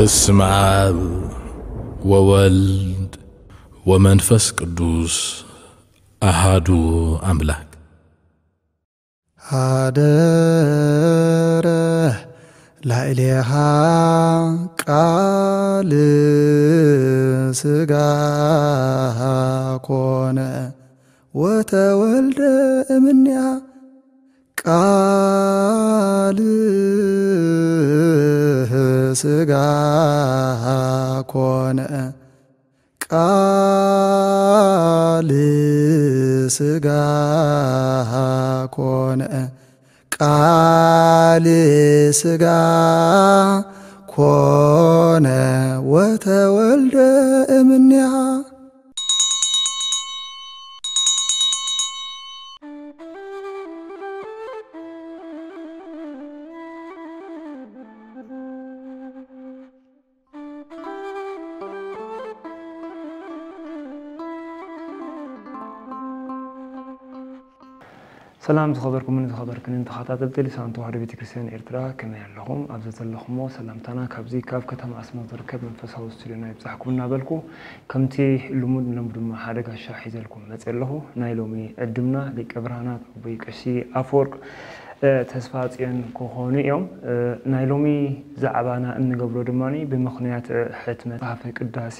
በስመ አብ ወወልድ ወመንፈስ ቅዱስ አሃዱ አምላክ። ሀደረ ላዕሌሃ ቃል ሥጋ ኮነ ወተወልደ እምኔሃ ቃል ሥጋ ኮነ ቃል ሥጋ ኮነ ቃል ሥጋ ኮነ ወተወልደ እምኔሃ። ሰላም ዝኸበርኩምን ዝኸበርክንን ተኸታተልቲ ልሳን ተዋህዶ ቤተክርስትያን ኤርትራ፣ ከመይ ኣለኹም? ኣብ ዘዘለኹሞ ሰላምታና ካብዚ ካብ ከተማ ኣስመራ ዝርከብ መንፈሳዊ ስቱዲዮና ይብጻሕኩም እናበልኩ፣ ከምቲ ልሙድ ንሎሚ ድማ ሓደ ጋሻ ሒዘልኩም መጽእ ኣለኹ። ናይ ሎሚ ዕድምና ሊቀ ብርሃናት ኣቦይ ቀሺ ኣፈወርቅ፣ እ፣ ተስፋ ጽዮን ክኾኑ እዮም። እ፣ ናይ ሎሚ ዛዕባና እንገብሮ ድማ ብምኽንያት፣ እ፣ ሕትመት መጽሓፈ ቅዳሴ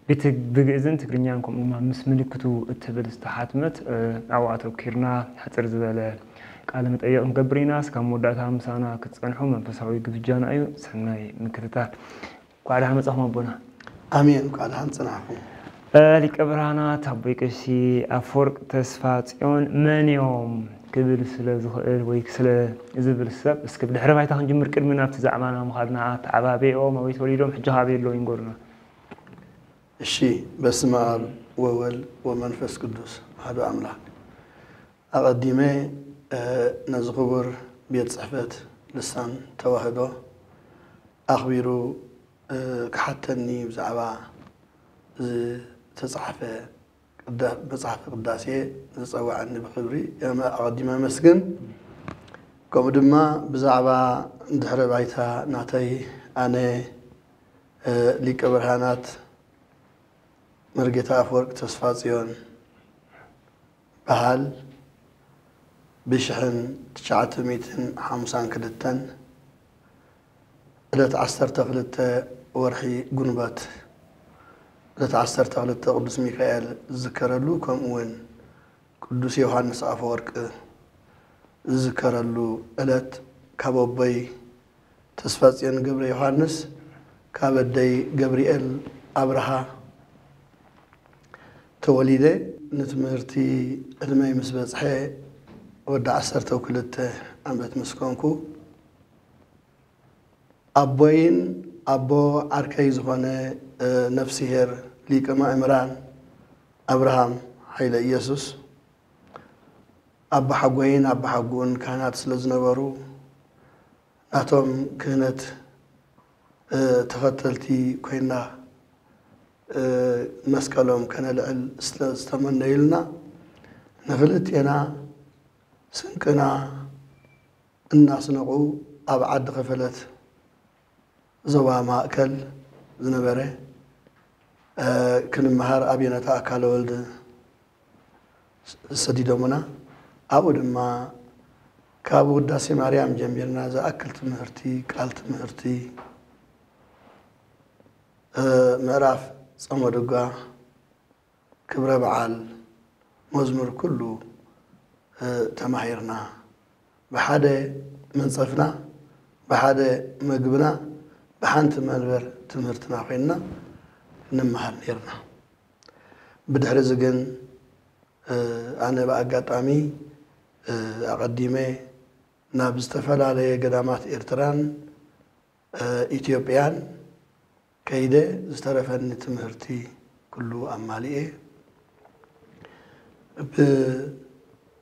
ብት-፣ ብግእዝን ትግርኛን ከምኡ ድማ ምስ ምልክቱ እትብል ዝተሓትመት፣ እ፣ ኣብኡ ኣተኲርና ሕጽር ዝበለ ቃለ መጠይቕ ንገብር ኢና። እስካብ መወዳእታ ምሳና ክትጸንሑ መንፈሳዊ ግብጃና እዩ። ሰናይ ምክትታል። እንኳዕ ደሓን መጻኹም ኣቦና። ኣሜን። እንኳዕ ደሓን ጸናሕኩም። እ፣ ሊቀ ብርሃናት ኣቦይ ቀሺ ኣፈወርቅ ተስፋ ጽዮን መን እዮም ክብል ስለ ዝኽእል ወይ ስለ ዝብል ሰብ፣ እስኪ ብድሕረ ባይታ ክንጅምር ቅድሚ ናብቲ ዛዕባና ምኻድና፣ ኣተዓባብያኦም፣ ኣበይ ተወሊዶም፣ ሕጂ ከ ኣበይ ኣለዉ ይንገሩና። እሺ፣ በስመ አብ ወወልድ ወመንፈስ ቅዱስ አሐዱ አምላክ። ኣቐዲመ፣ እ፣ ነዚ ክቡር ቤት ጽሕፈት ልሳን ተዋህዶ ኣኽቢሩ፣ እ፣ ክሓተኒ ብዛዕባ ዝተጻሕፈ ቅዳ-፣ መጽሓፈ ቅዳሴ ዝጸውዐኒ ብኽብሪ የመ-፣ ኣቐዲመ ኣመስግን። ከምኡ ድማ ብዛዕባ ድሕረ ባይታ ናተይ ኣነ፣ እ፣ ሊቀ ብርሃናት መርጌታ ኣፈወርቅ ተስፋጽዮን በሃል ብሽሕን ትሽዓተ ሚእትን ሓምሳን ክልተን ዕለት ዓሰርተ ክልተ ወርሒ ጉንበት፣ ዕለት ዓሰርተ ክልተ ቅዱስ ሚካኤል ዝዝከረሉ፣ ከምኡ እውን ቅዱስ ዮሃንስ ኣፈወርቅ ዝዝከረሉ ዕለት ካብ ኣቦይ ተስፋጽዮን ገብረ ዮሃንስ ካብ ኣደይ ገብርኤል ኣብርሃ ተወሊደ። ንትምህርቲ ዕድመይ ምስ በጽሐ ወዲ ዓሰርተ ክልተ ዓመት ምስ ኮንኩ፣ ኣቦይን ኣቦ ዓርከይ ዝኾነ፣ እ፣ ነፍስሄር ሊቀ ማእምራን ኣብርሃም ኃይለ ኢየሱስ፣ ኣቦሓጎይን ኣቦሓጎኡን ካህናት ስለ ዝነበሩ፣ ናቶም ክህነት፣ እ፣ ተኸተልቲ ኮይና፣ እ፣ መስቀሎም ከነልዕል ስለ ዝተመነዩልና፣ ንኽልቴና ስንቅና እናስነቑ ኣብ ዓዲ ከፈለት ዞባ ማእከል ዝነበረ፣ እ፣ ክንመሃር ኣብ የነታ ኣካለ ወልድ ሰዲዶምና። ኣብኡ ድማ ካብ ውዳሴ ማርያም ጀሚርና ዝኣክል ትምህርቲ፣ ቃል ትምህርቲ፣ እ፣ ምዕራፍ ጾመ ድጓ፣ ክብረ በዓል፣ መዝሙር ኩሉ፣ እ፣ ተማሂርና። ብሓደ መንጸፍና፣ ብሓደ መግብና፣ ብሓንቲ መንበር ትምህርትና ኮይንና ንመሃር ነይርና። ብድሕሪ እዚ ግን፣ እ፣ ኣነ ብኣጋጣሚ፣ እ፣ ኣቐዲመ ናብ ዝተፈላለየ ገዳማት ኤርትራን፣ እ፣ ኢትዮጵያን ከይደ ዝተረፈኒ ትምህርቲ ኩሉ ኣማሊኤ። ብ-፣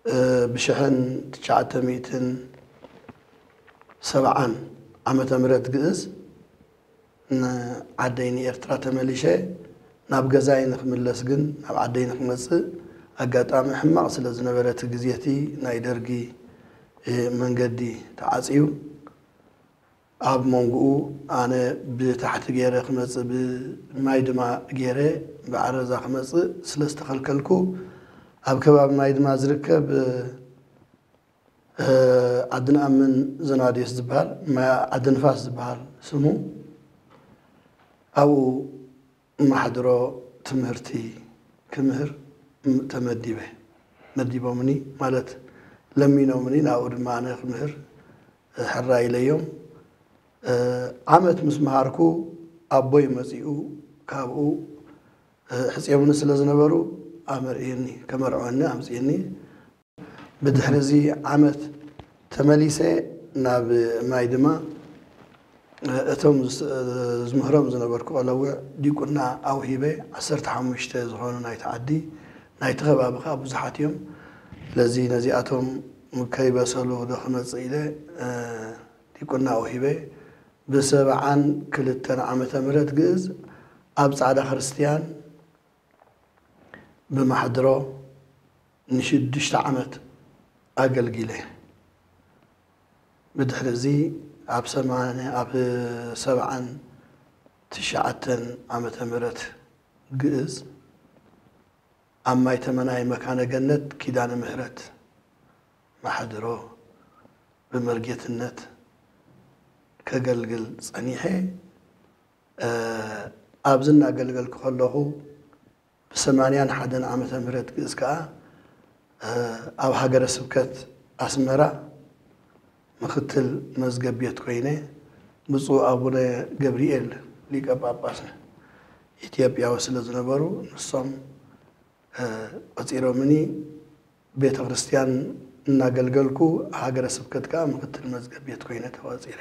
እ፣ ብሽሕን ትሽዓተ ሚእትን ሰብዓን ዓመተ ምህረት ግእዝ ንዓደይ ንኤርትራ ተመሊሸ። ናብ ገዛይ ንክምለስ ግን፣ ናብ ዓደይ ንክመጽእ ኣጋጣሚ ሕማቕ ስለ ዝነበረ፣ እቲ ግዜ እቲ ናይ ደርጊ፣ እ፣ መንገዲ ተዓጽዩ። ኣብ መንጎኡ ኣነ ብታሕቲ ገይረ ክመጽእ፣ ብማይ ድማ ገይረ ብዓረዛ ክመጽእ ስለ ዝተኸልከልኩ፣ ኣብ ከባቢ ማይ ድማ ዝርከብ፣ እ፣ ዓዲ ንኣምን ዘናድዮስ ዝበሃል፣ ማይ ዓዲ ንፋስ ዝበሃል ስሙ፣ ኣብኡ ማሕድሮ ትምህርቲ ክምህር ተመዲበ። መዲቦምኒ ማለት ለሚኖምኒ፣ ናብኡ ድማ ኣነ ክምህር ሕራይ ኢለዮም። ዓመት ምስ መሃርኩ ኣቦይ መጺኡ፣ ካብኡ ሕጽዮምኒ ስለ ዝነበሩ ኣመርዕዩኒ፣ ከመርዕወኒ ኣምጽእኒ። ብድሕሪ እዚ ዓመት ተመሊሰ ናብ ማይ ድማ፣ እቶም ዝስ-፣ ዝምህሮም ዝነበርኩ ቆለውዕ ዲቁና ኣውሂበ፣ ዓሰርተ ሓሙሽተ ዝኾኑ ናይቲ ዓዲ፣ ናይቲ ከባቢ ከኣ ብዙሓት እዮም። ስለዚ ነዚኣቶም ከይበሰሉ ዶ ክመጽእ ኢለ፣ እ፣ ዲቁና ኣውሂበ። ብሰብዓን ክልተን ዓመተ ምህረት ግእዝ ኣብ ጻዕዳ ክርስትያን ብማሕድሮ ንሽዱሽተ ዓመት ኣገልጊለ። ብድሕሪ እዚ ኣብ ሰማንያ፣ ኣብ ሰብዓን ትሽዓተን ዓመተ ምህረት ግእዝ ኣብ ማይ ተመናይ መካነ ገነት ኪዳነ ምህረት ማሕድሮ ብመርጌትነት ከገልግል ጸኒሐ። እ፣ ኣብዚ እናገልገልኩ ከለኹ ብሰማንያን ሓደን ዓመተ ምህረት ግእዝ ከኣ፣ እ፣ ኣብ ሃገረ ስብከት ኣስመራ ምኽትል መዝገብ ቤት ኮይነ፣ ብፁዕ ኣቡነ ገብርኤል ሊቀ ጳጳስ ኢትዮጵያዊ ስለ ዝነበሩ፣ ንሶም፣ እ፣ ቆጺሮምኒ። ቤተ ክርስቲያን እናገልገልኩ፣ ሃገረ ስብከት ከኣ ምኽትል መዝገብ ቤት ኮይነ ተቖጺረ።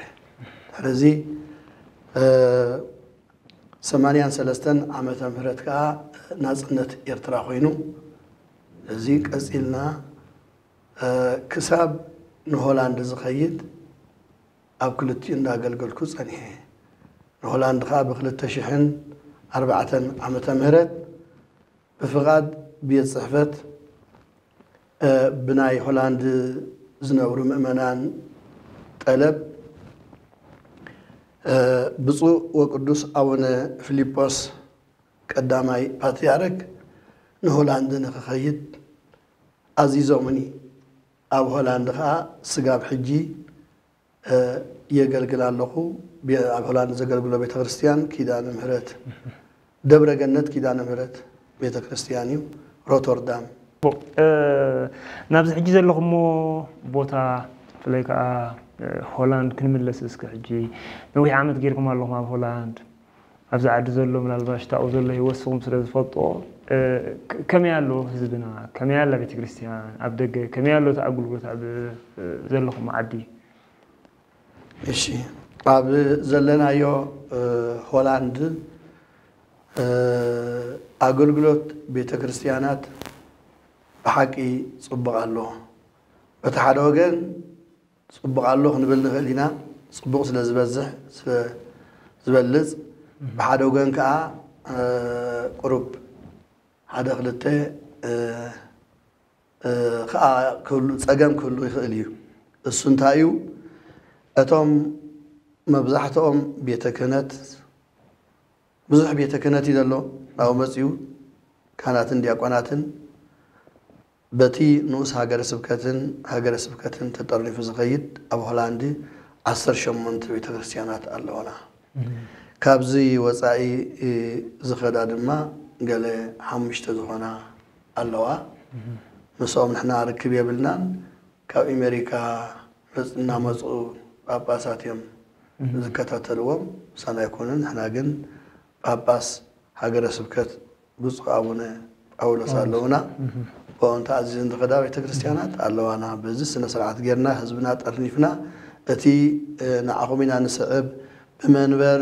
ድሕሪ እዚ፣ እ፣ ሰማንያን ሰለስተን ዓመተ ምህረት ከኣ ናጽነት ኤርትራ ኮይኑ፣ እዚ ቀጺልና፣ እ፣ ክሳብ ንሆላንድ ዝኸይድ ኣብ ክልቲኡ እንዳገልገልኩ ጸኒሐ። ንሆላንድ ከኣ ብክልተ ሽሕን ኣርባዕተን ዓመተ ምህረት ብፍቓድ ቤት ጽሕፈት፣ እ፣ ብናይ ሆላንድ ዝነብሩ ምእመናን ጠለብ፣ እ፣ ብፁዕ ወቅዱስ ኣቡነ ፊሊጶስ ቀዳማይ ፓትርያርክ ንሆላንድ ንክኸይድ ኣዚዞምኒ። ኣብ ሆላንድ ከኣ ስጋብ ሕጂ እ፣ የገልግል ኣለኹ። ቤ-፣ ኣብ ሆላንድ ዘገልግሎ ቤተክርስትያን ኪዳነ ምህረት፣ ደብረ ገነት ኪዳነ ምህረት ቤተክርስትያን እዩ፣ ሮተርዳም። እ፣ ናብዚ ሕጂ ዘለኹሞ ቦታ፣ ብፍላይ ከኣ፣ እ፣ ሆላንድ ክንምለስ፣ እስከ ሕጂ ነዊሕ ዓመት ጌርኩም ኣለኹም ኣብ ሆላንድ። ኣብዚ ዓዲ ዘሎ፣ ምናልባሽ ታኡ ዘሎ ህይወት ንስኹም ስለ ዝፈልጦ፣ እ፣ ከ-፣ ከመይ ኣሎ ህዝብና? ከመይ ኣላ ቤተክርስትያን? ኣብ ደገ ከመይ ኣሎ እቲ ኣገልግሎት ኣብ፣ እ፣ ዘለኹም ዓዲ? እሺ፣ ኣብ ዘለናዮ፣ እ፣ ሆላንድ፣ እ፣ ኣገልግሎት ቤተ ክርስትያናት ብሓቂ ጽቡቕ ኣሎ። በቲ ሓደ ወገን ጽቡቕ ኣሎ ክንብል ንኽእል ኢና፣ ጽቡቕ ስለ ዝበዝሕ፣ ስለ ዝበልጽ። ብሓደ ወገን ከኣ፣ እ፣ ቁሩብ ሓደ ክልተ፣ እ፣ እ፣ ከኣ ክህሉ፣ ጸገም ክህሉ ይኽእል እዩ። እሱ እንታይ እዩ? እቶም መብዛሕትኦም ቤተ ክህነት፣ ብዙሕ ቤተ ክህነት እዩ ዘሎ፣ ናብኡ መጺኡ ካህናትን ዲያቆናትን በቲ ንኡስ ሃገረ ስብከትን ሃገረ ስብከትን ተጠርኒፉ ዝኸይድ ኣብ ሆላንድ ዓሰርተ ሸሞንተ ቤተ ክርስትያናት ኣለዋና። እም። ካብዚ ወጻኢ፣ እ፣ ዝኸዳ ድማ ገለ ሓሙሽተ ዝኾና ኣለዋ። እም። ምስኦም ንሕና ርክብ የብልናን። ካብ ኣሜሪካ መጽ-፣ እናመጹ ጳጳሳት እዮም እም። ዝከታተልዎም። ምሳና ኣይኮኑን። ንሕና ግን ጳጳስ ሃገረ ስብከት ብፁዕ ኣቡነ ጳውሎስ ጳውሎስ። ኣለውና። እም። ብኦም ተኣዚዘን ዝኸዳ ቤተ ክርስትያናት ኣለዋና። በዚ ስነ ስርዓት ጌርና ህዝብና ጠርኒፍና እቲ፣ እ፣ ንዓኹም ኢና ንስዕብ፣ ብመንበር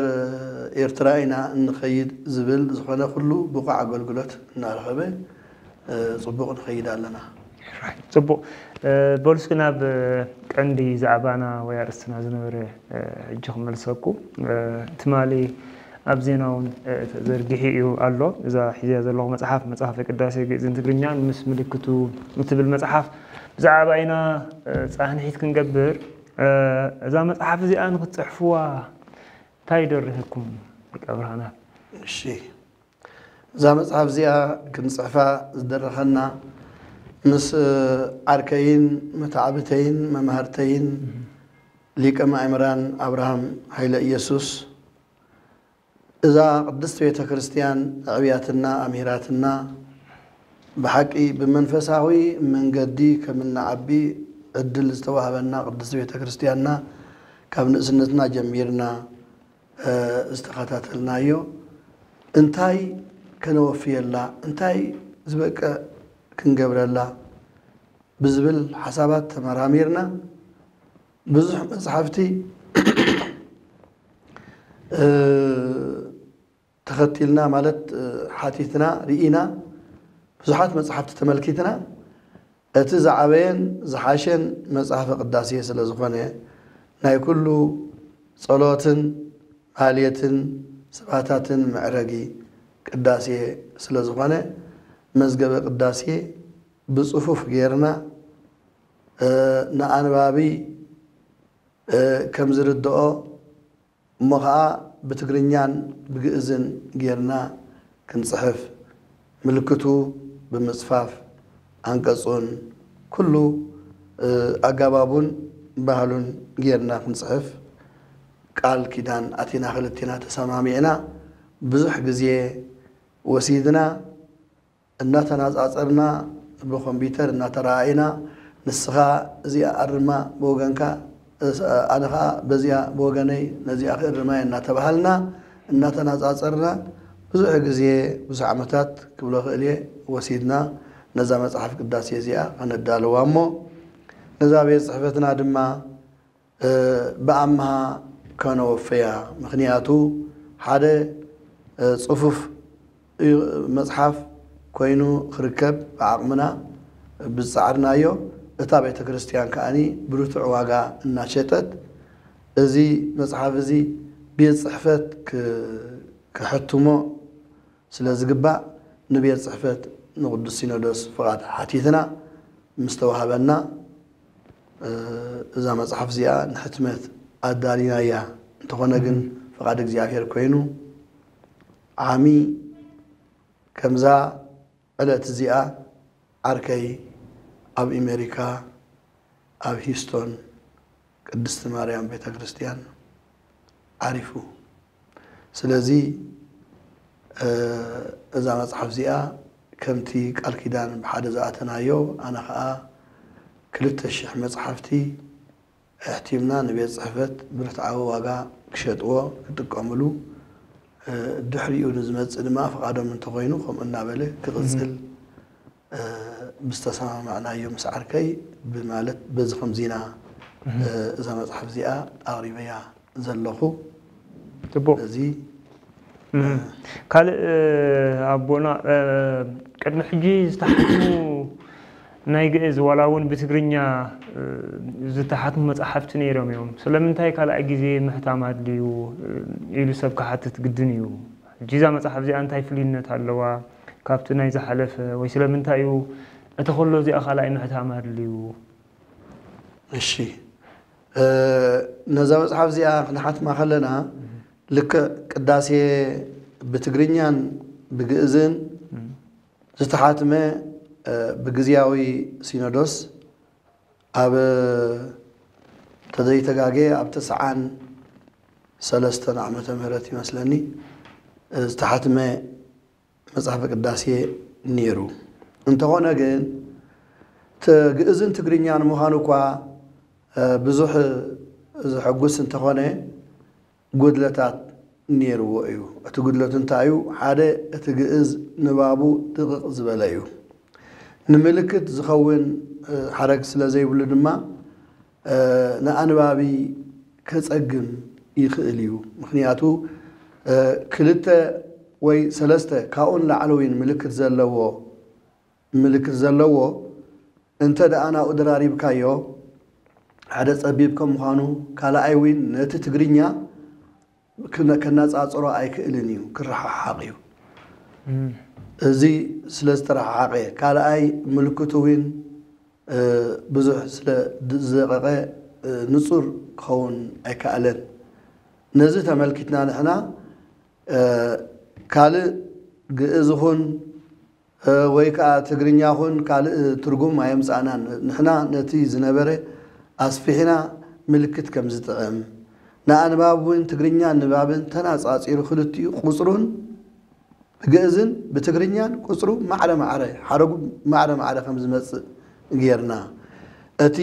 ኤርትራ ኢና እንኸይድ ዝብል ዝኾነ ኩሉ ብቑዕ ኣገልግሎት እናረኸበ፣ እ፣ ጽቡቕ ንኸይድ ኣለና። ጽቡቕ። እ፣ በሉ እስኪ ናብ ቀንዲ ዛዕባና ወይ ኣርእስትና ዝነበረ፣ እ፣ ሕጂ ክመልሰኩም። እ፣ ትማሊ ኣብ ዜና እውን፣ እ፣ ተዘርጊሑ እዩ ኣሎ። እዛ ሒዝያ ዘለኹ መጽሓፍ፣ መጽሓፈ ቅዳሴ ግእዝን ትግርኛን ምስ ምልክቱ እትብል መጽሓፍ፣ ብዛዕባ ኢና፣ እ፣ ጻንሒት ክንገብር፣ እዛ መጽሓፍ እዚኣ ንክትጽሕፍዋ እንታይ ይደርህኩም ሊቀ ብርሃናት? እሺ፣ እዛ መጽሓፍ እዚኣ ክንጽሕፋ ዝደረኸና ምስ ዓርከይን መታዕብተይን መማህርተይን ሊቀ ማእምራን ኣብርሃም ሃይለ ኢየሱስ፣ እዛ ቅድስት ቤተ ክርስቲያን ኣዕብያትና ኣምሂራትና፣ ብሓቂ ብመንፈሳዊ መንገዲ ከም እንዓቢ ዕድል ዝተዋህበና ቅድስት ቤተ ክርስቲያንና፣ ካብ ንእስነትና ጀሚርና ዝተኸታተልናዮ፣ እንታይ ከነወፍየላ፣ እንታይ ዝበቅዕ ክንገብረላ ብዝብል ሓሳባት ተመራሚርና፣ ብዙሕ መፅሓፍቲ ተኸቲልና፣ ማለት ሓቲትና፣ ርኢና፣ ብዙሓት መፅሓፍቲ ተመልኪትና፣ እቲ ዝዓበየን ዝሓሸን መፅሓፈ ቅዳሴ ስለ ዝኾነ፣ ናይ ኩሉ ጸሎትን ማህሌትን ስብሃታትን መዕረጊ ቅዳሴ ስለ ዝኾነ፣ መዝገበ ቅዳሴ ብጽፉፍ ጌርና ንኣንባቢ ከም ዝርድኦ እሞ ኸዓ ብትግርኛን ብግእዝን ጌርና ክንጽሕፍ፣ ምልክቱ ብምጽፋፍ፣ ኣንቀጹን ኩሉ ኣጋባቡን ባህሉን ጌርና ክንጽሕፍ ቃል ኪዳን ኣቲና፣ ክልቴና ተሰማሚዕና። ብዙሕ ግዜ ወሲድና። እናተናጻጸርና ብኮምፒተር እናተረኣኢና፣ ንስኻ እዚኣ ኣርማ ብወገንካ፣ ኣነ ኸኣ በዚኣ ብወገነይ ነዚኣ ክእርማ እየ እናተባሃልና እናተናጻጸርና ብዙሕ ግዜ፣ ብዙሕ ዓመታት ክብሎ ክእል እየ፣ ወሲድና ነዛ መጽሓፍ ቅዳሴ እዚኣ ከነዳልዋ እሞ ነዛ ቤት ጽሕፈትና ድማ ብኣምሃ ከነወፈያ። ምኽንያቱ ሓደ ጽፉፍ መጽሓፍ ኮይኑ ክርከብ ብዓቕምና ብዝጸዓርናዮ፣ እታ ቤተ ክርስቲያን ከኣኒ ብርቱዕ ዋጋ እናሸጠት፣ እዚ መጽሓፍ እዚ ቤት ጽሕፈት ክሕትሞ ስለ ዝግባእ፣ ንቤት ጽሕፈት ንቅዱስ ሲኖዶስ ፍቓድ ሓቲትና ምስ ተዋህበና፣ እዛ መጽሓፍ እዚኣ ንሕትመት ኣዳሊናያ። እንተኾነ ግን ፍቓድ እግዚኣብሔር ኮይኑ ዓሚ ከምዛ ዕለት እዚኣ ዓርከይ ኣብ ኣሜሪካ ኣብ ሂስቶን ቅድስቲ ማርያም ቤተ ክርስቲያን ዓሪፉ። ስለዚ እዛ መጽሓፍ እዚኣ ከምቲ ቃል ኪዳን ብሓደ ዝኣተናዮ፣ ኣነ ኸኣ ክልተ ሽሕ መጽሓፍቲ ኣሕቲምና ንቤት ጽሕፈት ብርትዓዊ ዋጋ ክሸጥዎ ክጥቀምሉ፣ ድሕሪኡ ንዝመጽእ ድማ ፍቓዶም እንተኾይኑ ከምኡ እናበለ ክቕጽል ብዝተሰማማዕናዮ ምስ ዓርከይ ብማለት በዚ ከምዚና እዛ መጽሓፍ እዚኣ ኣቕሪበያ ዘለኹ። ጽቡቕ። እዚ ካልእ ኣቦና፣ ቅድሚ ሕጂ ዝተሓትሙ ናይ ግእዝ ዋላ እውን ብትግርኛ ዝተሓትሙ መጽሓፍቲ ነይሮም እዮም። ስለምንታይ ካልኣይ ግዜ ምሕታም ኣድልዩ ኢሉ ሰብ ክሓትት ግድን እዩ። ሕጂ እዛ መጽሓፍ እዚኣ እንታይ ፍሉይነት ኣለዋ ካብቲ ናይ ዝሓለፈ? ወይ ስለምንታይ እዩ እቲ ከሎ እዚኣ ካልኣይ ምሕታም ኣድልዩ? እሺ፣ ነዛ መጽሓፍ እዚኣ ክንሓትማ ከለና ልክዕ ቅዳሴ ብትግርኛን ብግእዝን ዝተሓትመ ብግዝያዊ ሲኖዶስ ኣብ ተዘይተጋጌ ኣብ ተስዓን ሰለስተን ዓመተ ምህረት ይመስለኒ ዝተሓትመ መጽሓፈ ቅዳሴ ነይሩ። እንተኾነ ግን ግእዝን ትግርኛን ምዃኑ እኳ ብዙሕ ዘሐጉስ እንተኾነ፣ ጉድለታት ነይርዎ እዩ። እቲ ጉድለቱ እንታይ እዩ? ሓደ፣ እቲ ግእዝ ንባቡ ድቕቕ ዝበለ እዩ። ንምልክት ዝኸውን ሓረግ ስለ ዘይብሉ ድማ ንኣንባቢ ከጸግም ይኽእል እዩ። ምኽንያቱ ክልተ ወይ ሰለስተ ካብኡ ንላዕሊ እውን ምልክት ዘለዎ ምልክት ዘለዎ እንተ ደኣ ናብኡ ደራሪብካዮ፣ ሓደ ጸቢብ ከም ምዃኑ፣ ካልኣይ እውን ነቲ ትግርኛ ክነ- ከነጻጽሮ ኣይክእልን እዩ፣ ክረሓሓቕ እዩ። እዚ ስለ ዝተረሓሓቐ፣ ካልኣይ ምልክቱ እውን ብዙሕ ስለ ዝደቀቐ ንጹር ክኸውን ኣይከኣለን። ነዚ ተመልኪትና ንሕና ካልእ ግእዝ ኹን ወይ ከዓ ትግርኛ ኹን ካልእ ትርጉም ኣየምጻእናን። ንሕና ነቲ ዝነበረ ኣስፊሕና ምልክት ከም ዝጥዕም፣ ንኣንባብ እውን ትግርኛ ንባብን ተናጻጺሩ ክልቲኡ ቁጽሩን ብግእዝን ብትግርኛን ቁጽሩ ማዕረ ማዕረ፣ ሓረጉ ማዕረ ማዕረ ከም ዝመጽእ ጌርና። እቲ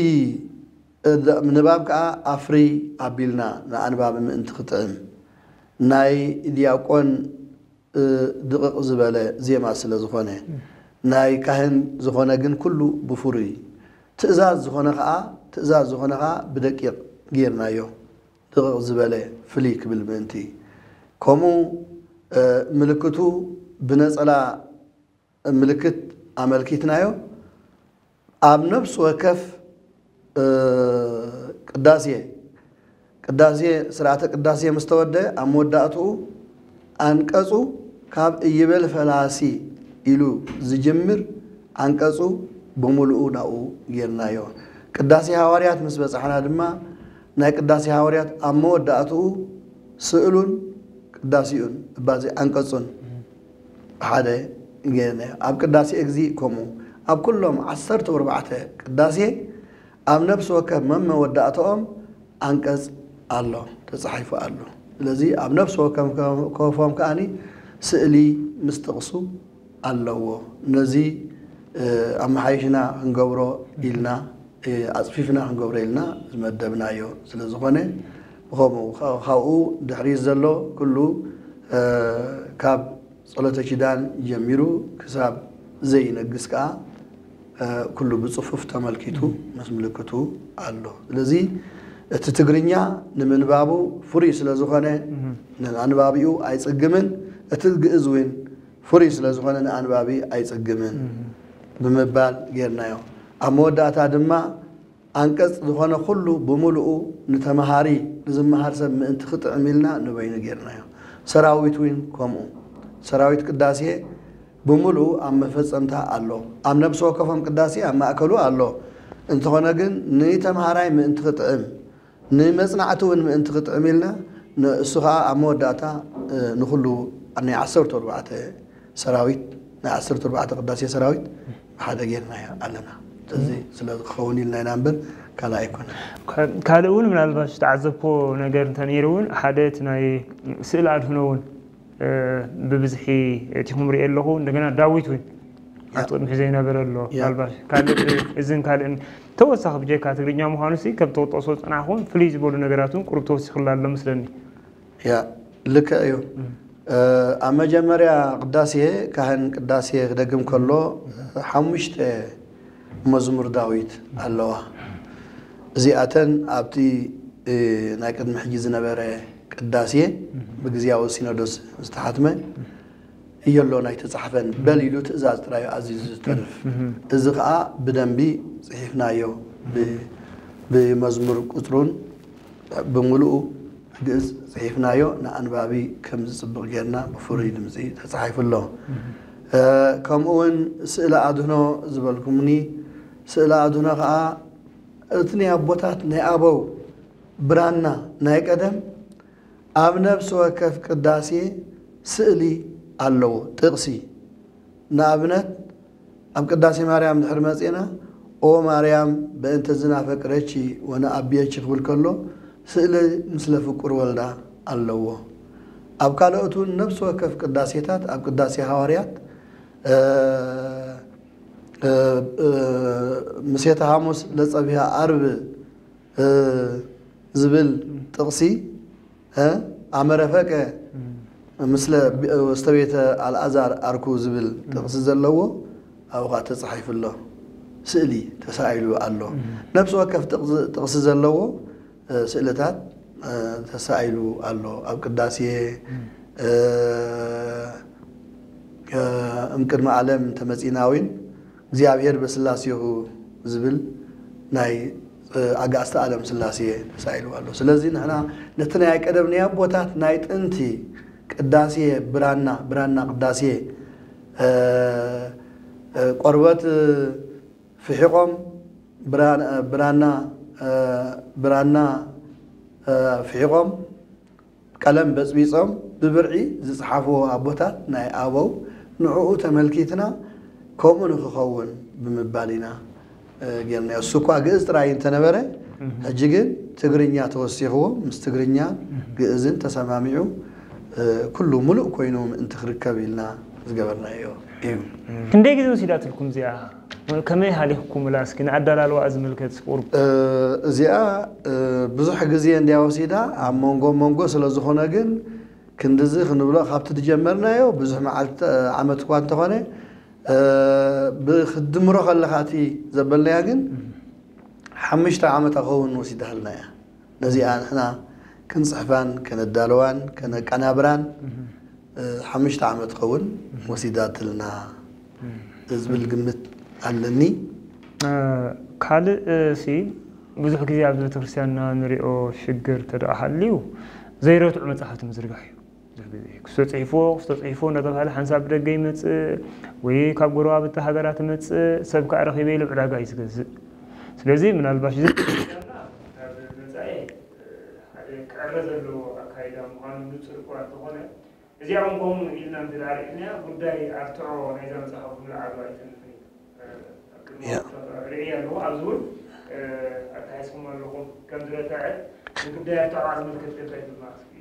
ንባብ ከዓ ኣፍሪ ኣቢልና ንኣንባቢ ምእንቲ ክጥዕም፣ ናይ ዲያቆን ድቕቕ ዝበለ ዜማ ስለ ዝኾነ፣ ናይ ካህን ዝኾነ ግን ኩሉ ብፍሩይ፣ ትእዛዝ ዝኾነ ከዓ ትእዛዝ ዝኾነ ከዓ ብደቂቕ ጌርናዮ። ድቕቕ ዝበለ ፍልይ ክብል ምእንቲ። ከምኡ ምልክቱ ብነጸላ ምልክት ኣመልኪትናዮ። ኣብ ነፍሲ ወከፍ ቅዳሴ ቅዳሴ ስርዓተ ቅዳሴ ምስ ተወደ ኣብ መወዳእትኡ ኣንቀጹ ካብ እይበል ፈላሲ ኢሉ ዝጅምር ኣንቀጹ ብምሉኡ ናብኡ ጌርናዮ። ቅዳሴ ሃዋርያት ምስ በጻሕና ድማ ናይ ቅዳሴ ሃዋርያት ኣብ መወዳእትኡ ስእሉን ቅዳሴኡን እባዚ ኣንቀጹን ሓደ ጌርናዮ። ኣብ ቅዳሴ እግዚእ ከምኡ ኣብ ኩሎም ዓሰርተ ኣርባዕተ ቅዳሴ ኣብ ነፍሲ ወከፍ መመወዳእታኦም ኣንቀጽ ኣሎ፣ ተጻሒፉ ኣሎ። ስለዚ ኣብ ነፍሲ ወከፎም ከኣኒ ስእሊ ምስ ጥቕሱ ኣለዎ። ነዚ ኣመሓይሽና ክንገብሮ ኢልና ኣጽፊፍና ክንገብሮ ኢልና ዝመደብናዮ ስለ ዝኾነ፣ ብኸምኡ ካብኡ ድሕሪት ዘሎ ኩሉ ካብ ጸሎተ ኪዳን ጀሚሩ ክሳብ ዘይነግስ ከኣ ኩሉ ብጽፉፍ ተመልኪቱ ምስ ምልክቱ ኣሎ። ስለዚ እቲ ትግርኛ ንምንባቡ ፍሩይ ስለ ዝኾነ ንኣንባቢኡ ኣይጽግምን፣ እቲ ግእዝ እውን ፍሩይ ስለ ዝኾነ ንኣንባቢ ኣይጽግምን ብምባል ጌርናዮ። ኣብ መወዳእታ ድማ ኣንቀጽ ዝኾነ ኩሉ ብምሉኡ ንተምሃሪ ንዝመሃር ሰብ ምእንቲ ክጥዕም ኢልና ንበይኑ ጌርናዮ። ሰራዊት እውን ከምኡ። ሰራዊት ቅዳሴ ብምሉኡ ኣብ መፈጸምታ ኣሎ። ኣብ ነብሲ ወከፎም ቅዳሴ ኣብ ማእከሉ ኣሎ። እንተኾነ ግን ንተምሃራይ ምእንቲ ክጥዕም፣ ንመጽናዕቲ እውን ምእንቲ ክጥዕም ኢልና ንእሱ ኸኣ ኣብ መወዳእታ ንኹሉ ናይ ዓሰርተ ኣርባዕተ ሰራዊት ናይ ዓሰርተ ኣርባዕተ ቅዳሴ ሰራዊት ብሓደ ጌርናዮ ኣለና። እዚ ስለ ዝኸውን ኢልና ኢና እምበር ካልእ ኣይኮነን። ካልእ እውን ምናልባት ዝተዓዘብኮ ነገር እንተ ነይሩ እውን ሓደ እቲ ናይ ስእሊ ኣድህኖ እውን ብብዝሒ እቲኹም ሪኦ ኣለኹ። እንደገና ዳዊት እውን ኣብቲ ቅድሚ ዘይነበረ ኣሎ። ምናልባት ካልእ እዝን ካልእን ተወሳኺ ብጀካ ትግርኛ ምዃኑ ሲ ከም ተወጠሶ ዝጸናሕኹም ፍልይ ዝበሉ ነገራት እውን ቁሩብ ተወሲኹላ ኣሎ መስለኒ። ያ ልክዕ እዩ። ኣብ መጀመርያ ቅዳሴ ካህን ቅዳሴ ክደግም ከሎ ሓሙሽተ መዝሙር ዳዊት ኣለዋ። እዚኣተን ኣብቲ ናይ ቅድሚ ሕጂ ዝነበረ ቅዳሴ ብግዝያዊ ሲኖዶስ ዝተሓትመ እየሎን ኣይተጻሕፈን በል ኢሉ ትእዛዝ ጥራዩ ኣዚዙ ዝተርፍ። እዚ ኸኣ ብደንቢ ጽሒፍናዮ ብመዝሙር ቁጽሩን ብምሉኡ ግእዝ ጽሒፍናዮ ንኣንባቢ ከም ዝጽብቕ ጌርና ብፍሩይ ድምጺ ተጻሒፉ ኣሎ። ከምኡ እውን ስእሊ ኣድህኖ ዝበልኩምኒ፣ ስእሊ ኣድህኖ ኸኣ እቲ ናይ ኣቦታት ናይ ኣበው ብራና ናይ ቀደም ኣብ ነፍሲ ወከፍ ቅዳሴ ስእሊ ኣለዎ። ጥቕሲ ንኣብነት ኣብ ቅዳሴ ማርያም ድሕሪ መጺእና ኦ ማርያም በእንተ ዝናፈቅረኪ ወነኣብየኪ ክብል ከሎ ስእሊ ምስለ ፍቁር ወልዳ ኣለዎ። ኣብ ካልኦት እውን ነፍሲ ወከፍ ቅዳሴታት ኣብ ቅዳሴ ሃዋርያት ምሴተ ሓሙስ ለጸቢሃ ኣርብ ዝብል ጥቕሲ ኣመረፈቀ ምስለ ውስተ ቤተ ኣልኣዛር ኣርኩ ዝብል ጥቕሲ ዘለዎ ኣብኡ ኸዓ ተጻሒፉ ኣሎ። ስእሊ ተሳኢሉ ኣሎ። ነፍሲ ወከፍ ጥቕሲ ዘለዎ ስእልታት ተሳኢሉ ኣሎ። ኣብ ቅዳሴ እምቅድሚ ዓለም እንተመጺእና እውን እግዚኣብሔር በስላሴሁ ዝብል ናይ ኣጋእዝተ ዓለም ስላሴ ተሳኢሉ ኣሎ። ስለዚ ንሕና ነቲ ናይ ቀደም ናይ ኣቦታት ናይ ጥንቲ ቅዳሴ ብራና ብራና ቅዳሴ ቆርበት ፍሒቖም ብራና ብራና ፍሒቖም ቀለም በጽቢጾም ብብርዒ ዝጸሓፍዎ ኣቦታት ናይ ኣበው ንዕኡ ተመልኪትና ከምኡ ንክኸውን ብምባል ኢና ጌርናዮ። እሱ እኳ ግእዝ ጥራይ እንተነበረ ሕጂ ግን ትግርኛ ተወሲኽዎ ምስ ትግርኛ ግእዝን ተሰማሚዑ ኩሉ ሙሉእ ኮይኑ ምእንቲ ክርከብ ኢልና ዝገበርናዮ እዩ። ክንደይ ግዜ ወሲዳትልኩም እዚኣ? ከመይ ሃሊኽኩምላ? እስኪ ንኣዳላልዋ ዝምልከት ቁሩብ። እዚኣ ብዙሕ ግዜ እንድያ ወሲዳ ኣብ መንጎ መንጎ ስለ ዝኾነ ግን ክንድዚ ክንብሎ ካብቲ ዝጀመርናዮ ብዙሕ መዓልቲ ዓመት እኳ እንተኾነ ብክትድምሮ ከለኻ እቲ ዘበልናያ ግን ሓሙሽተ ዓመት ኣኸውን ወሲዳልና እያ። ነዚኣ ንሕና ክንፅሕፋን ከነዳልዋን ከነቀናብራን ሓሙሽተ ዓመት ኸውን ወሲዳትልና ዝብል ግምት ኣለኒ። ካልእ ሲ ብዙሕ ግዜ ኣብዚ ቤተክርስትያንና ንሪኦ ሽግር ተደኣ ሃልዩ ዘይረትዑ መፅሓፍቲ ምዝርጋሕ እዩ። ብዙሕ ግዜ ክስቶ ፅሒፍዎ ክስቶ ፅሒፍዎ እናተባሃለ ሓንሳብ ብደገ ይመፅእ ወይ ካብ ጎረባብቲ ሃገራት ይመፅእ ሰብ ከዓ ረኺበ ኢሉ ዕዳጋ እዩ ዝገዝእ። ስለዚ ምናልባሽ እዚ መፃኢ ሓደ ክዕረ ዘለዎ ኣካይዳ ምዃኑ ንፁር እኳ እንተኾነ እዚኣ እውን ከምኡ ኢልና እንተደኣ ርኢናያ ጉዳይ ኣርትዖ ናይዛ መፅሓፍ ብምልዓሉ ኣይተርፍን እዩ። ርእያ ኣለዎ ኣብዚ እውን ኣተሓሒዝኩም ኣለኹም ከም ዝረተዐ ንጉዳይ ኣርትዖ ዝምልከት ከ እንታይ ትብልና እስኪ?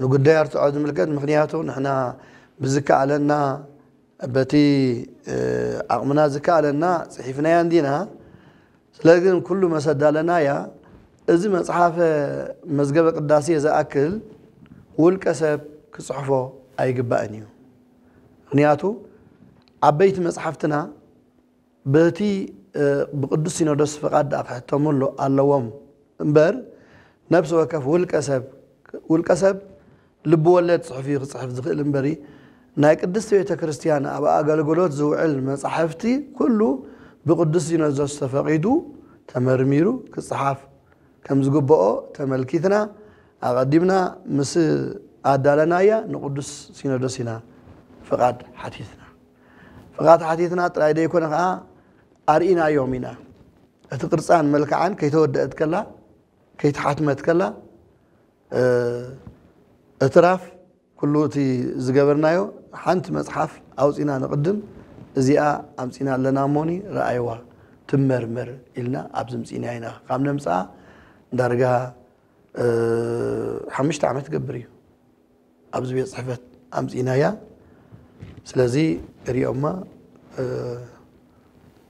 ንጉዳይ ኣርትዖ ዝምልከት ምክንያቱ ንሕና ብዝከኣለና በቲ ዓቕምና ዝከኣለና ፅሒፍናያ እንዲና። ስለዚ ግን ኩሉ መሰዳለናያ እዚ መፅሓፈ መዝገበ ቅዳሴ ዝኣክል ውልቀ ሰብ ክፅሕፎ ኣይግባእን እዩ። ምክንያቱ ዓበይቲ መፅሓፍትና በቲ ብቅዱስ ሲኖዶስ ፍቓድ ደኣ ክሕተሙ ኣለዎም እምበር ነብሲ ወከፍ ውልቀ ሰብ ውልቀ ሰብ ልቢ ወለድ ፅሑፍ እዩ ክፅሕፍ ዝኽእል እምበሪ ናይ ቅድስቲ ቤተ ክርስቲያን ኣብ ኣገልግሎት ዝውዕል መፃሕፍቲ ኩሉ ብቅዱስ ሲኖዶስ ተፈቒዱ ተመርሚሩ ክፅሓፍ ከም ዝግብኦ ተመልኪትና ኣቐዲምና ምስ ኣዳለናያ ንቅዱስ ሲኖዶስ ኢና ፍቓድ ሓቲትና። ፍቓድ ሓቲትና ጥራይ ዘይኮነ ከዓ ኣርኢናዮም ኢና። እቲ ቅርፃን መልክዓን ከይተወደአት ከላ ከይተሓትመት ከላ እትራፍ ኩሉ እቲ ዝገበርናዮ ሓንቲ መፅሓፍ ኣውፂና ንቕድም እዚኣ ኣምፂና ኣለና እሞኒ ረኣይዋ ትመርመር ኢልና ኣብዚ ምፂና ኢና ካብ ነምፅኣ ዳርጋ ሓሙሽተ ዓመት ገብር እዩ ኣብዚ ቤት ፅሕፈት ኣምፂናያ ስለዚ ሪኦማ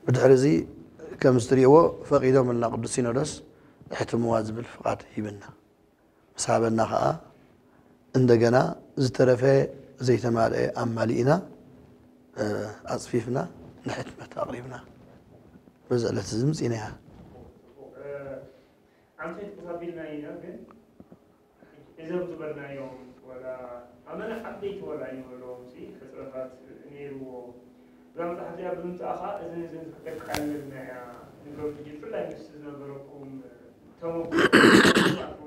ብድሕሪ እዚ ከም ዝትሪእዎ ፈቒዶም ልና ቅዱስ ሲኖዶስ እሕትምዋ ዝብል ፍቓድ ሂብና ምስ ሃበና ከዓ እንደገና ዝተረፈ ዘይተማልአ ኣማሊእና ኣፅፊፍና ንሕትመት ኣቕሪብና በዚ ዕለት እዚ ምፂናያ ኣንፈት ተሳቢልና ኢና ግን እዞም ዝበልናዮም ወላ ኣመና ዓበይቲ ወላ ኣይንበሎም ሕፅረታት ነይርዎ እዛ መፅሓፍ እዚኣ ብምምፃእኻ እዝን እዝን ከተቃልልና እያ ንብሎም ሕጂ ብፍላይ ምስ ዝነበረኩም ተመክሮ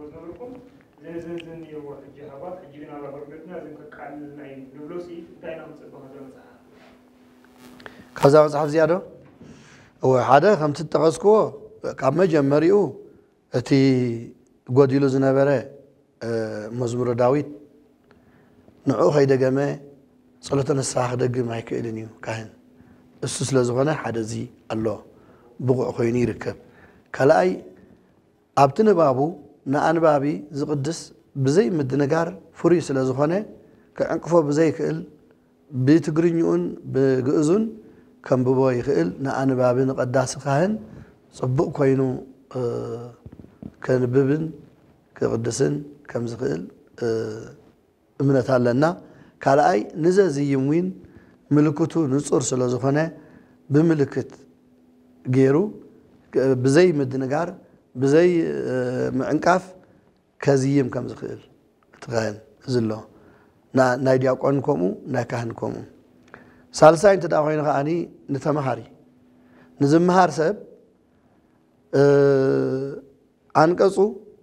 ዝነበርኩም እዝን እዝን እዝን ነይርዎ ሕጂ ሃባ ሕጂ ግን ኣብ ኣገልግሎትና እዝን ከቃልልና እዩ ንብሎ ሲ እንታይ ኢና ክንፅበ ከዛ መፅሓፍ ካብዛ መፅሓፍ እዚኣ ዶ እወ ሓደ ከምቲ ዝጠቐስክዎ ካብ መጀመሪኡ እቲ ጎዲሉ ዝነበረ መዝሙረ ዳዊት ንዕኡ ከይደገመ ጸሎተ ንስሓ ክደግም ኣይክእልን እዩ ካህን። እሱ ስለ ዝኾነ ሓደ እዚ ኣሎ ብቑዕ ኮይኑ ይርከብ። ካልኣይ ኣብቲ ንባቡ ንኣንባቢ ዝቕድስ ብዘይ ምድንጋር ፍሩይ ስለ ዝኾነ ክዕንቅፎ ብዘይክእል ብትግርኝኡን ብግእዙን ከንብቦ ይኽእል። ንኣንባቢ ንቐዳሲ ካህን ጽቡቕ ኮይኑ ከንብብን ክቕድስን ከም ዝኽእል እምነት ኣለና። ካልኣይ ንዘዝይም ዊን ምልክቱ ንጹር ስለ ዝኾነ ብምልክት ገይሩ ብዘይ ምድንጋር ብዘይ ምዕንቃፍ ከዝይም ከም ዝኽእል እቲ ካህን እዚ ኣሎ ናይ ዲያቆን ከምኡ ናይ ካህን ከምኡ ሳልሳይ እንተ ኮይኑ ከዓኒ ንተምሃሪ ንዝምሃር ሰብ ኣንቀፁ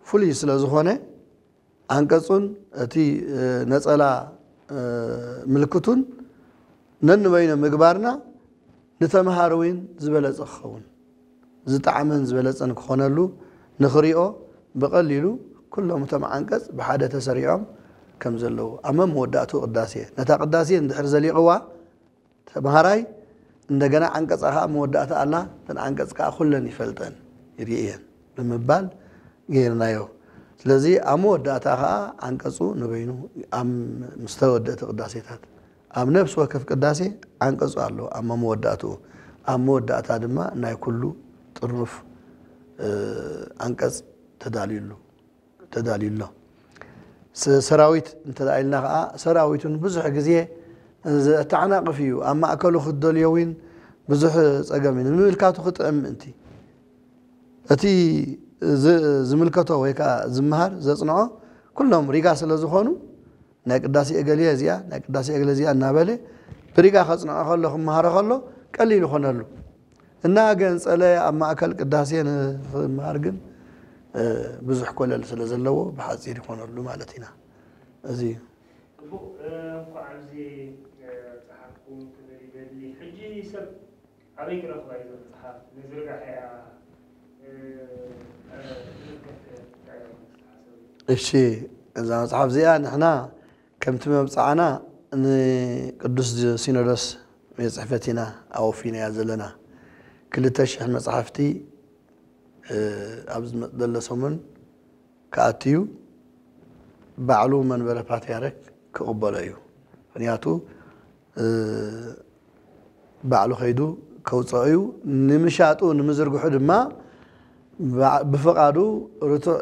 ፍሉይ ስለ ዝኾነ ኣንቀፁን እቲ ነፀላ ምልክቱን ነንበይኖ ምግባርና ንተምሃሪ እውን ዝበለፀ ክኸውን ዝጠዓመን ዝበለጸን ክኾነሉ ንኽሪኦ ብቐሊሉ ኩሎም እቶም ዓንቀጽ ብሓደ ተሰሪዖም ከም ዘለዉ ኣብ መወዳእቱ ቅዳሴ ነታ ቅዳሴ እንድሕር ዘሊቕዋ ተምሃራይ እንደገና ዓንቀጻ ከዓ መወዳእታ ኣላ፣ እተን ዓንቀጽ ከዓ ኩለን ይፈልጠን ይርእየን ብምባል ገይርናዮ። ስለዚ ኣብ መወዳእታ ከዓ ዓንቀጹ ንበይኑ ኣብ ምስ ተወደእቲ ቅዳሴታት ኣብ ነፍሲ ወከፍ ቅዳሴ ዓንቀጹ ኣሎ ኣብ መወዳእትኡ። ኣብ መወዳእታ ድማ ናይ ኩሉ ጥርኑፍ ዓንቀጽ ተዳልዩሉ ተዳልዩ ኣሎ። ሰራዊት እንተ ኢልና ከዓ ሰራዊቱን ብዙሕ ግዜ ኣተዓናቕፍ እዩ። ኣብ ማእከሉ ክትደልዮ እውን ብዙሕ ጸገም እዩ። ንምምልካቱ ክጥዕም ምእንቲ እቲ ዝምልከቶ ወይ ከዓ ዝመሃር ዘጽንዖ ኩሎም ሪጋ ስለ ዝኾኑ ናይ ቅዳሴ እገሌ እዚኣ ናይ ቅዳሴ እገሌ እዚኣ እናበለ ብሪጋ ከጽንዖ ከሎ ክመሃሮ ከሎ ቀሊል ይኾነሉ። እናገንጸለ ኣብ ማእከል ቅዳሴ ንኽመሃር ግን ብዙሕ ኮለል ስለ ዘለዎ ብሓጺር ይኾነሉ ማለት ኢና። እዚ እዩ። ጽቡቕ። እንኳዕ ኣብዚ ኣብጽሓኩም ክብል ይደሊ። ሕጂ ሰብ ኣበይ ክረኽባ እዩ መጽሓፍ ንዝርጋሐ እያ ዝምልከት እንታይ እዩ ዝሓሰብ? እሺ፣ እዛ መጽሓፍ እዚኣ ንሕና ከምቲ መብጽዓና ንቅዱስ ሲኖዶስ ቤት ጽሕፈት ኢና ኣወፊናያ ዘለና። ክልተ ሽሕ መጽሓፍቲ ኣብዚ ዝመጽእ ዘሎ ሰሙን ክኣትዩ ባዕሉ መንበረ ፓትርያርክ ክቕበሎ እዩ። ምኽንያቱ ባዕሉ ከይዱ ከውፅኦ እዩ። ንምሻጡ ንምዝርግሑ ድማ ብፍቓዱ ርቱዕ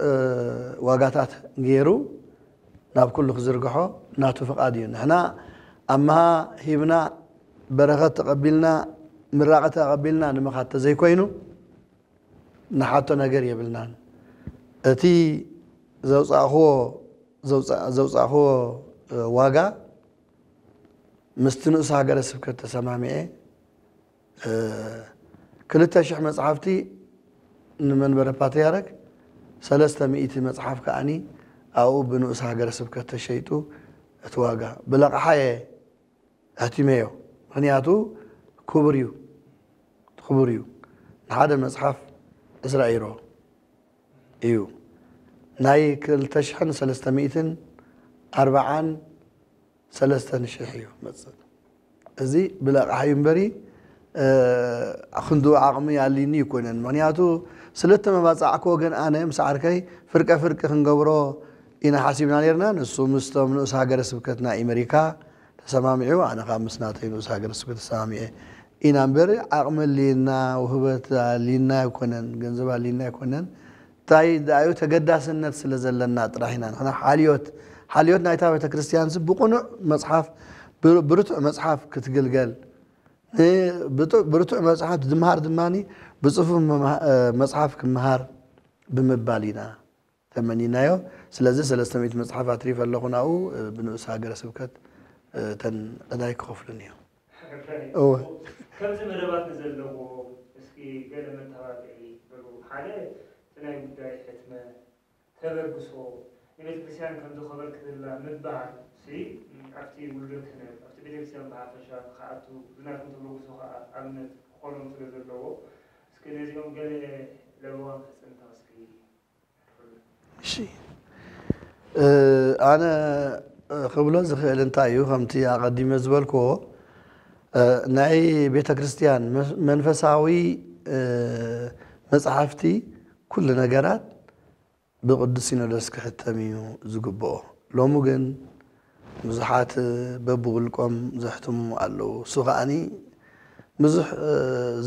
ዋጋታት ገይሩ ናብ ኩሉ ክዝርግሖ ናቱ ፍቓድ እዩ። ንሕና ኣምሃ ሂብና በረኸት ተቐቢልና ምራቐ ተቐቢልና ንምኻድ ተዘይኮይኑ ንሓቶ ነገር የብልናን። እቲ ዘውፃእኽዎ ዘውፃእኽዎ ዋጋ ምስቲ ንኡስ ሃገረ ስብከት ተሰማሚዐ ክልተ ሽሕ መፅሓፍቲ ንመንበረ ፓትርያርክ ሰለስተ ሚእቲ መፅሓፍ ከዓኒ ኣብኡ ብንኡስ ሃገረ ስብከት ተሸይጡ እቲ ዋጋ ብለቕሓ እየ ኣሕቲመዮ። ምኽንያቱ ክቡር እዩ ክቡር እዩ። ንሓደ መፅሓፍ ዕስራ ኢሮ እዩ። ናይ ክልተ ሽሕን ሰለስተ ሚእትን ኣርባዓን ሰለስተን ሽሕ እዩ መፅእ። እዚ ብለቕሓ እዩ እምበሪ ክንድኡ ዓቕሚ ኣልይኒ ይኮነን። ምኽንያቱ ስለተመባፃዕክዎ ግን ኣነ ምስ ዓርከይ ፍርቀ ፍርቂ ክንገብሮ ኢና ሓሲብና ነርና። ንሱ ምስቶም ንኡስ ሃገረ ስብከት ናይ ኣሜሪካ ተሰማሚዑ ኣነ ካብ ምስ ናተይ ንኡስ ሃገረ ስብከት ተሰማሚዐ ኢና እምበር ዓቕሚ ኣልይና ውህበት ኣልይና ኣይኮነን፣ ገንዘብ ኣልይና ኣይኮነን። እንታይ ደኣዩ ተገዳስነት ስለ ዘለና ጥራሕ ኢና ንሕና ሓልዮት ሓልዮት ናይታ ቤተ ክርስቲያን ሲ ብቕኑዕ መፅሓፍ ብርቱዕ መፅሓፍ ክትግልገል ብርቱዕ መፅሓፍ ዝምሃር ድማ ብፅፉፍ መፅሓፍ ክምሃር ብምባል ኢና ተመኒናዮ። ስለዚ ሰለስተ ሚእቲ መፅሓፍ ኣትሪፈ ኣለኹ ናብኡ ብንኡስ ሃገረ ስብከት እተን ዕዳይ ክኸፍሉን እዮም። ከምዚ መደባት ንዘለዎ እስኪ ገለ መተባብዒ በሉ። ሓደ እቲ ናይ ጉዳይ ሕትመት ተበግሶ ንቤተ ክርስቲያን ከምዚ ከበርክትላ ምባል ሲ ኣብቲ ውልዶ ክህነት ኣብቲ ቤተ ክርስቲያን ብሓፈሻ ክኣቱ ብናትኩም ተበግሶ ከዓ ኣብነት ክኾኖም ስለ ዘለዎ እስኪ ነዚኦም ገለ ለበዋም ሕፅንታ እስኪ እሺ ኣነ ክብሎ ዝኽእል እንታይ እዩ ከምቲ ኣቐዲመ ዝበልክዎ ናይ ቤተ ክርስቲያን መንፈሳዊ መፅሓፍቲ ኩሉ ነገራት ብቅዱስ ሲኖዶስ ክሕተም እዩ ዝግብኦ። ሎሚ ግን ብዙሓት በብውልቆም ዘሕትሙ ኣለዉ። እሱ ከዓኒ ብዙሕ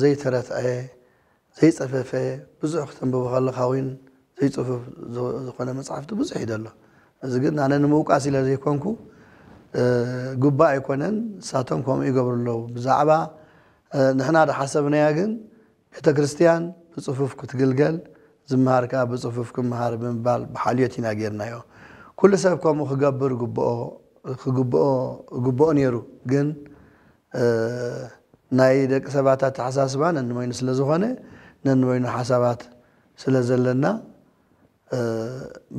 ዘይተረትዐ ዘይፀፈፈ ብዙሕ ክተንብቦ ከለኻ እውን ዘይፅፉፍ ዝኾነ መፅሓፍቲ ብዙሕ እዩ ዘሎ። እዚ ግን ኣነ ንምውቃስ ኢለ ዘይኮንኩ ግባእ ኣይኮነን። ንሳቶም ከምኡ ይገብሩ ኣለዉ። ብዛዕባ ንሕና ዝሓሰብናያ ግን ቤተ ክርስቲያን ብፅፉፍ ክትግልገል ዝመሃር ከዓ ብፅፉፍ ክመሃር ብምባል ብሓልዮት ኢና ጌርናዮ። ኩሉ ሰብ ከምኡ ክገብር ግብኦ ነይሩ። ግን ናይ ደቂ ሰባት ኣተሓሳስባ ነንበይኑ ስለ ዝኾነ ነንበይኑ ሓሳባት ስለ ዘለና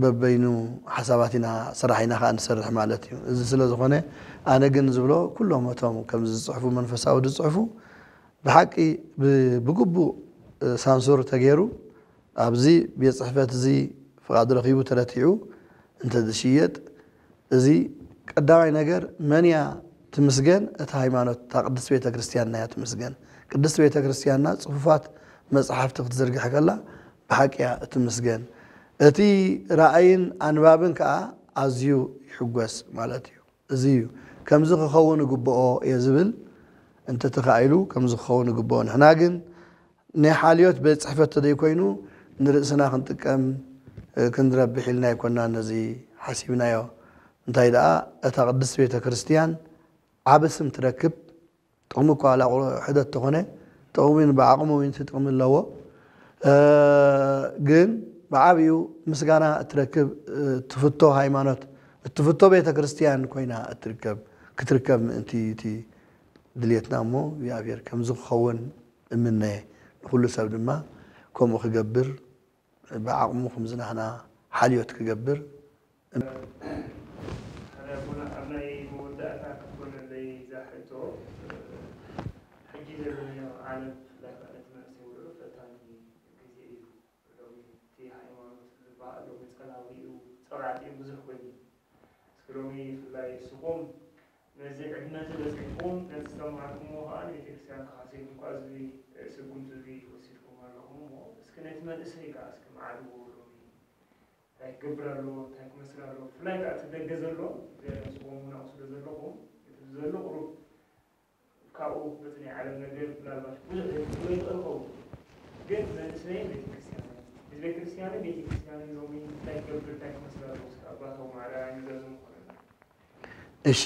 በበይኑ ሓሳባት ኢና ስራሕ ኢና ከዓ ንሰርሕ ማለት እዩ። እዚ ስለ ዝኾነ ኣነ ግን ዝብሎ ኩሎም እቶም ከምዚ ዝፅሕፉ መንፈሳዊ ዝፅሕፉ ብሓቂ ብግቡእ ሳንሱር ተገይሩ ኣብዚ ቤት ፅሕፈት እዚ ፍቓድ ረኺቡ ተረቲዑ እንተ ዝሽየጥ፣ እዚ ቀዳማይ ነገር መን እያ ትምስገን? እታ ሃይማኖት፣ እታ ቅድስት ቤተ ክርስቲያንና እያ ትምስገን። ቅድስት ቤተ ክርስቲያንና ጽፉፋት መጽሓፍቲ ክትዝርግሕ ከላ ብሓቂ እያ እትምስገን። እቲ ራእይን ኣንባብን ከኣ ኣዝዩ ይሕጎስ ማለት እዩ። እዚ እዩ። ከምዚ ክኸውን ይግብኦ እየ ዝብል እንተተኻኢሉ ከምዚ ክኸውን ይግብኦ። ንሕና ግን ናይ ሓልዮት ቤት ጽሕፈት ተዘይኮይኑ ንርእስና ክንጥቀም ክንረብሕ ኢልና ኣይኮናን ነዚ ሓሲብናዮ። እንታይ ደኣ እታ ቅድስት ቤተ ክርስቲያን ዓቢ ስም ትረክብ። ጥቕሚ እኳ ዋላ ሕደት ተኾነ ጥቕሚ ብዓቕሙ ጥቕሚ ኣለዎ። ግን ብዓብዩ ምስጋና እትረክብ ትፍቶ ሃይማኖት እትፍቶ ቤተ ክርስቲያን ኮይና እትርከብ ክትርከብ ምእንቲ እቲ ድልየትና እሞ እግዚኣብሔር ከምዚ ክኸውን እምነ። ንኹሉ ሰብ ድማ ከምኡ ክገብር ብዓቕሙ ከምዚ ናህና ሓልዮት ክገብር። ኣቦና ኣብ ናይ መወዳእታ ክትኮነለይ እዛ ሕቶ ሕጂ ዘለናዮ ዓለም ብፍላይ ከኣ ነቲ መንእሰይ ውዕሉ ፈታኒ ግዜ እዩ። ሎሚ እቲ ሃይማኖት ዝበሃል ሎሚ ጸላዊ እዩ ጸላእቲ እዩ ብዙሕ ኮይኑ እስኪ ሎሚ ብፍላይ እስኹም ነዚ ዕድመ እዚ በጺሕኩም ነቲ ዝተማሃርኩምዎ ከኣ ንቤተክርስትያን ተኻሲብኩም ከኣ እዚ ስጉምቲ እዚ ወሲድኩም ኣለኹም እሞ እስኪ ነቲ መንእሰይ ከኣ እስኪ መዓድዎ ሎሚ እንታይ ክገብር ኣለዎ እንታይ ክመስል ኣለዎ ብፍላይ ከኣ እቲ ደገ ዘሎ እዚ ስኹም እውን ኣብኡ ስለ ዘለኹም እቲ ዘሎ ቁሩብ ካብኡ በቲ ናይ ዓለም ነገር ምናልባት ብዙሕ ዘይትኽእሎ ይኽእል ይኸውን ግን መንእሰይን ቤተክርስትያንን ህዝበ ክርስትያንን ቤተክርስትያንን ሎሚ እንታይ ክገብር እንታይ ክመስል ኣለዎ እስኪ ኣባታዊ ማዕረ ኣይንገርዝም ይኾነና እሺ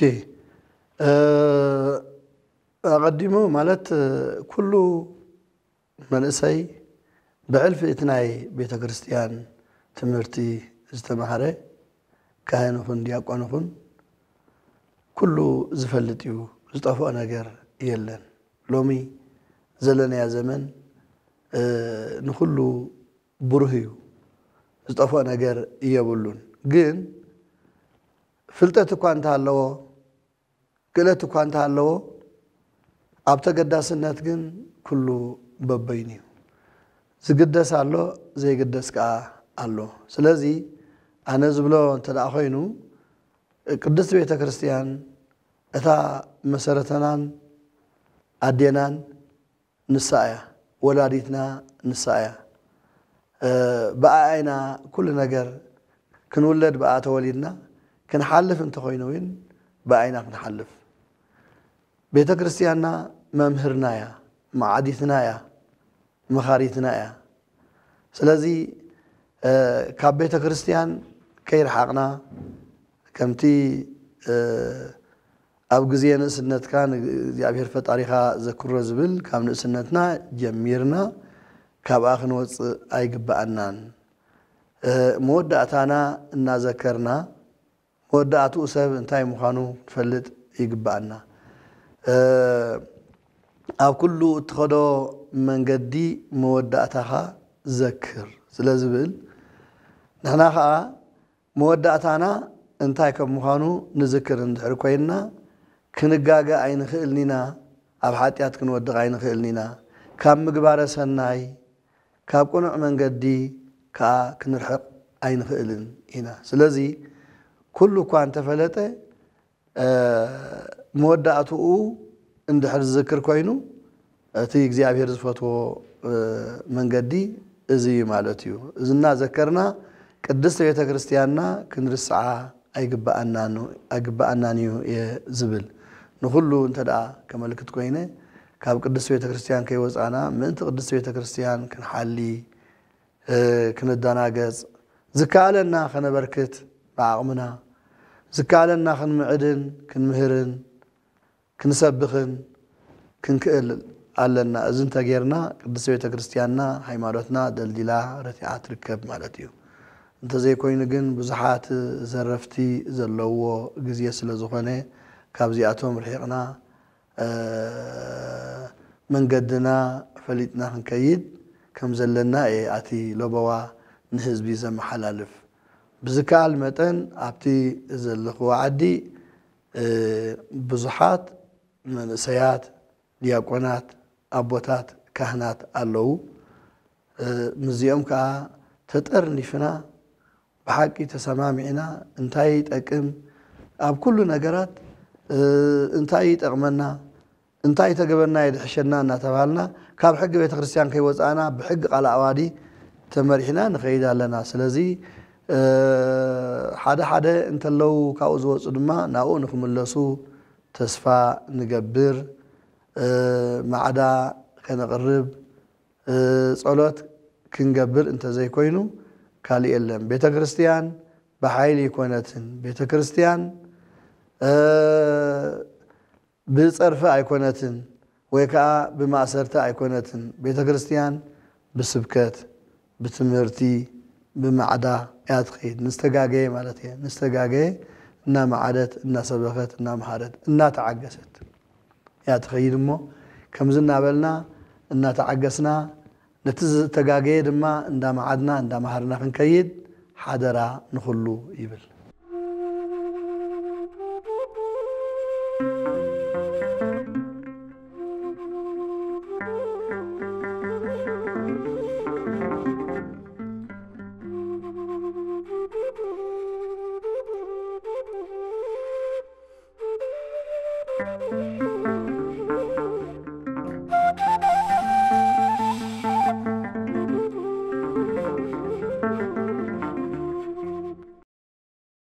ኣቐዲሙ ማለት ኩሉ መንእሰይ ብሕልፊ እቲ ናይ ቤተ ክርስትያን ትምህርቲ ዝተማህረ ካህን ይኹን ዲያቆን ይኹን ኩሉ ዝፈልጥ እዩ። ዝጠፍኦ ነገር የለን። ሎሚ ዘለናያ ዘመን ንኹሉ ብሩህ እዩ። ዝጠፍኦ ነገር የብሉን። ግን ፍልጠት እኳ እንተሃለዎ ክእለት እኳ እንተሃለዎ ኣብ ተገዳስነት ግን ኩሉ በበይኑ እዩ። ዝግደስ ኣሎ፣ ዘይግደስ ከኣ ኣሎ። ስለዚ ኣነ ዝብሎ እንተ ደኣ ኮይኑ ቅድስቲ ቤተ ክርስትያን እታ መሰረተናን ኣዴናን ንሳ እያ፣ ወላዲትና ንሳ እያ። ብኣኣ ኢና ኩሉ ነገር ክንውለድ ብኣ ተወሊድና ክንሓልፍ እንተኾይኑ እውን ብኣይና ክንሓልፍ ቤተ ክርስትያንና መምህርና እያ፣ መዓዲትና እያ፣ መኻሪትና እያ። ስለዚ ካብ ቤተ ክርስትያን ከይረሓቕና ከምቲ ኣብ ግዜ ንእስነትካ ንእግዚኣብሔር ፈጣሪኻ ዘክሮ ዝብል ካብ ንእስነትና ጀሚርና ካብኣ ክንወፅእ ኣይግበኣናን። መወዳእታና እናዘከርና መወዳእትኡ ሰብ እንታይ ምዃኑ ክንፈልጥ ይግበኣና። ኣብ ኩሉ እትኸዶ መንገዲ መወዳእታኻ ዘክር ስለ ዝብል ንሕና ኸዓ መወዳእታና እንታይ ከም ምዃኑ ንዝክር እንድሕር ኮይንና ክንጋገ ኣይንኽእልን ኢና። ኣብ ሓጢኣት ክንወድቕ ኣይንኽእልን ኢና። ካብ ምግባረ ሰናይ ካብ ቅኑዕ መንገዲ ከኣ ክንርሕቕ ኣይንኽእልን ኢና። ስለዚ ኩሉ እኳ እንተፈለጠ መወዳእትኡ እንድሕር ዝዝክር ኮይኑ እቲ እግዚኣብሔር ዝፈትዎ መንገዲ እዚ እዩ ማለት እዩ። እዚ እናዘከርና ቅድስቲ ቤተ ክርስትያንና ክንርስዓ ኣይግበኣናን እዩ ዝብል ንኹሉ እንተ ደኣ ከመልክት ኮይነ ካብ ቅድስቲ ቤተ ክርስትያን ከይወፃና ምእንቲ ቅድስቲ ቤተ ክርስትያን ክንሓሊ ክንደናገፅ ዝከኣለና ከነበርክት ብዓቕምና ዝከኣለና ክንምዕድን ክንምህርን ክንሰብኽን ክንክእል ኣለና። እዚ እንተጌርና ቅድስቲ ቤተ ክርስትያንና ሃይማኖትና ደልዲላ ረቲዓ ትርከብ ማለት እዩ። እንተዘይኮይኑ ግን ብዙሓት ዘረፍቲ ዘለዎ ግዜ ስለ ዝኾነ ካብዚኣቶም ርሒቕና መንገድና ፈሊጥና ክንከይድ ከም ዘለና እየ ኣቲ ለበዋ ንህዝቢ ዘመሓላልፍ። ብዝከኣል መጠን ኣብቲ ዘለኽዎ ዓዲ ብዙሓት መንእሰያት፣ ዲያቆናት፣ ኣቦታት፣ ካህናት ኣለዉ። ምስዚኦም ከዓ ተጠርኒፍና ብሓቂ ተሰማሚዕና እንታይ ይጠቅም፣ ኣብ ኩሉ ነገራት እንታይ ይጠቕመና፣ እንታይ ተገበርና የድሕሸና እናተባሃልና ካብ ሕጊ ቤተ ክርስቲያን ከይወፃእና ብሕጊ ቃል ኣዋዲ ተመሪሕና ንኸይድ ኣለና። ስለዚ ሓደ ሓደ እንተለዉ ካብኡ ዝወፁ ድማ ናብኡ ንክምለሱ ተስፋ ንገብር። ማዕዳ ከነቕርብ ጸሎት ክንገብር እንተዘይኮይኑ ካልእ የለን። ቤተ ክርስቲያን ብሓይሊ ኣይኮነትን። ቤተ ክርስቲያን ብጸርፊ ኣይኮነትን ወይ ከዓ ብማእሰርቲ ኣይኮነትን። ቤተ ክርስቲያን ብስብከት፣ ብትምህርቲ፣ ብማዕዳ እያ ትኸይድ። ንዝተጋገየ ማለት እየ። ንዝተጋገየ እናመዓደት፣ እናሰበኸት፣ እናመሃረት፣ እናተዓገሰት እያ ትኸይድ እሞ ከምዚ እናበልና እናተዓገስና ነቲ ዝተጋገየ ድማ እንዳመዓድና እንዳመሃርና ክንከይድ ሓደራ ንኹሉ ይብል።